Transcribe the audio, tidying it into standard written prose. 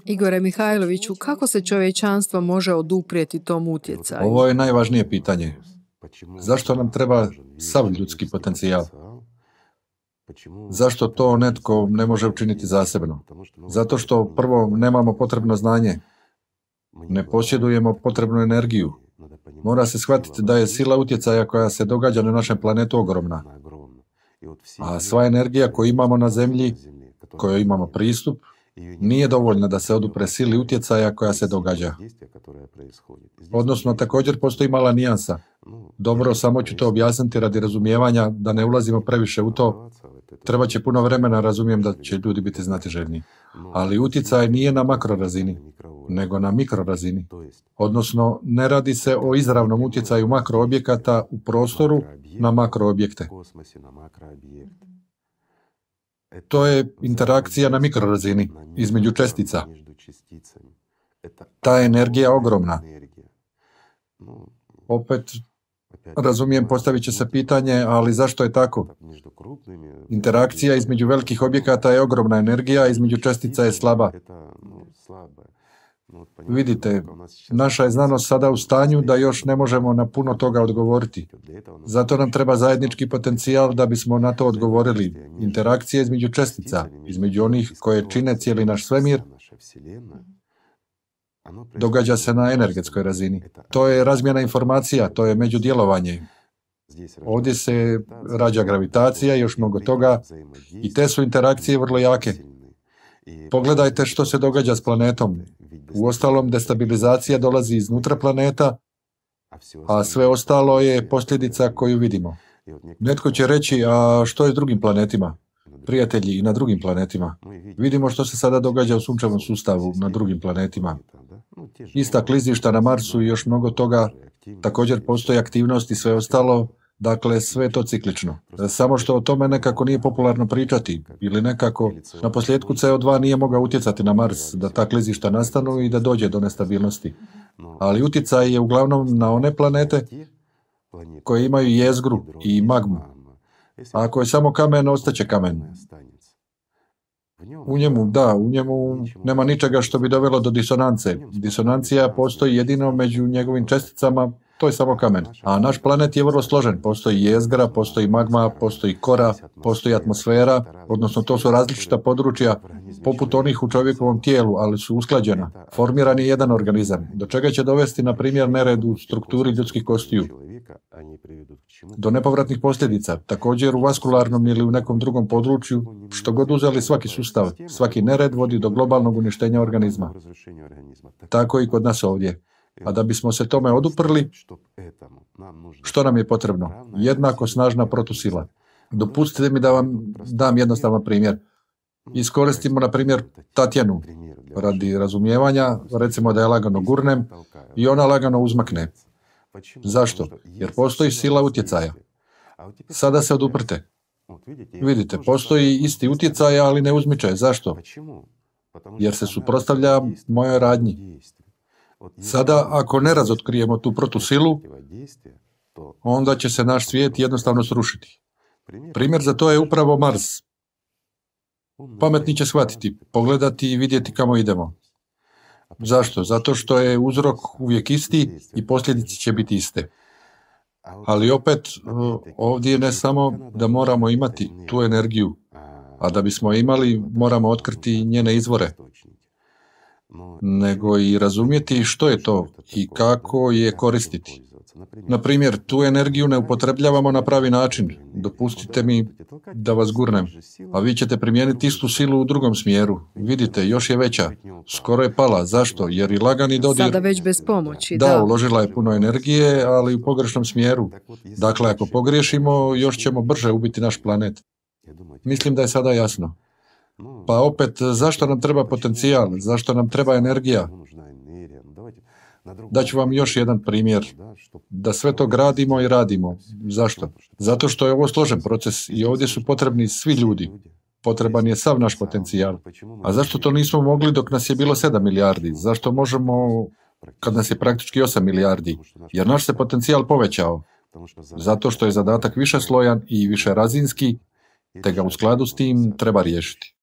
Igore Mihajloviću, kako se čovječanstvo može oduprijeti tom utjecaju? Ovo je najvažnije pitanje. Zašto nam treba sav ljudski potencijal? Zašto to netko ne može učiniti zasebno? Zato što prvo nemamo potrebno znanje, ne posjedujemo potrebnu energiju. Mora se shvatiti da je sila utjecaja koja se događa na našem planetu ogromna. A sva energija koju imamo na Zemlji, kojoj imamo pristup, nije dovoljna da se odupre sili utjecaja koja se događa. Odnosno, također postoji mala nijansa. Dobro, samo ću to objasniti radi razumijevanja, da ne ulazimo previše u to. Treba će puno vremena, razumijem da će ljudi biti znatiželjni. Ali utjecaj nije na makrorazini, nego na mikrorazini. Odnosno, ne radi se o izravnom utjecaju makroobjekata u prostoru na makroobjekte. To je interakcija na mikrorazini, između čestica. Ta energija je ogromna. Opet, razumijem, postavit će se pitanje, ali zašto je tako? Interakcija između velikih objekata je ogromna energija, a između čestica je slaba. Vidite, naša je znanost sada u stanju da još ne možemo na puno toga odgovoriti. Zato nam treba zajednički potencijal da bismo na to odgovorili. Interakcija između čestica, između onih koje čine cijeli naš svemir, događa se na energetskoj razini. To je razmjena informacija, to je međudjelovanje. Ovdje se rađa gravitacija i još mnogo toga i te su interakcije vrlo jake. Pogledajte što se događa s planetom. Uostalom, destabilizacija dolazi iznutra planeta, a sve ostalo je posljedica koju vidimo. Netko će reći, a što je s drugim planetima? Prijatelji, i na drugim planetima. Vidimo što se sada događa u sunčevom sustavu na drugim planetima. Ista klizišta na Marsu i još mnogo toga, također postoji aktivnost i sve ostalo, dakle sve je to ciklično. Samo što o tome nekako nije popularno pričati, ili nekako na posljedku CO2 nije mogao utjecati na Mars, da ta klizišta nastanu i da dođe do nestabilnosti. Ali utjecaj je uglavnom na one planete koje imaju jezgru i magmu. A ako je samo kamen, ostaće kamen. U njemu nema ničega što bi dovelo do disonance. Disonancija postoji jedino među njegovim česticama, to je samo kamen. A naš planet je vrlo složen. Postoji jezgra, postoji magma, postoji kora, postoji atmosfera, odnosno to su različita područja, poput onih u čovjekovom tijelu, ali su usklađena. Formiran je jedan organizam, do čega će dovesti, na primjer, nered u strukturi ljudskih kostiju. Do nepovratnih posljedica, također u vaskularnom ili u nekom drugom području, što god uzeli svaki sustav, svaki nered vodi do globalnog uništenja organizma. Tako i kod nas ovdje. A da bismo se tome oduprli, što nam je potrebno? Jednako snažna protusila. Dopustite mi da vam dam jednostavan primjer. Iskoristimo, na primjer, Tatjanu. Radi razumijevanja, recimo da je lagano gurnem i ona lagano uzmakne. Zašto? Jer postoji sila utjecaja. Sada se oduprte. Vidite, postoji isti utjecaj, ali ne uzmiče. Zašto? Jer se suprotstavlja mojoj radnji. Sada, ako ne razotkrijemo tu protusilu, onda će se naš svijet jednostavno srušiti. Primjer za to je upravo Mars. Pametni će shvatiti, pogledati i vidjeti kamo idemo. Zašto? Zato što je uzrok uvijek isti i posljedice će biti iste. Ali opet, ovdje ne samo da moramo imati tu energiju, a da bismo imali, moramo otkriti njene izvore, nego i razumjeti što je to i kako je koristiti. Na primjer, tu energiju ne upotrebljavamo na pravi način. Dopustite mi da vas gurnem, a vi ćete primijeniti istu silu u drugom smjeru. Vidite, još je veća. Skoro je pala. Zašto? Jer i lagani dodir... Sada već bez pomoći, Da, uložila je puno energije, ali u pogrešnom smjeru. Dakle, ako pogriješimo, još ćemo brže ubiti naš planet. Mislim da je sada jasno. Pa opet, zašto nam treba potencijal? Zašto nam treba energija? Daću vam još jedan primjer. Da sve to gradimo i radimo. Zašto? Zato što je ovo složen proces i ovdje su potrebni svi ljudi. Potreban je sav naš potencijal. A zašto to nismo mogli dok nas je bilo 7 milijardi? Zašto možemo kad nas je praktički 8 milijardi? Jer naš se potencijal povećao. Zato što je zadatak više slojan i više razinski, te ga u skladu s tim treba riješiti.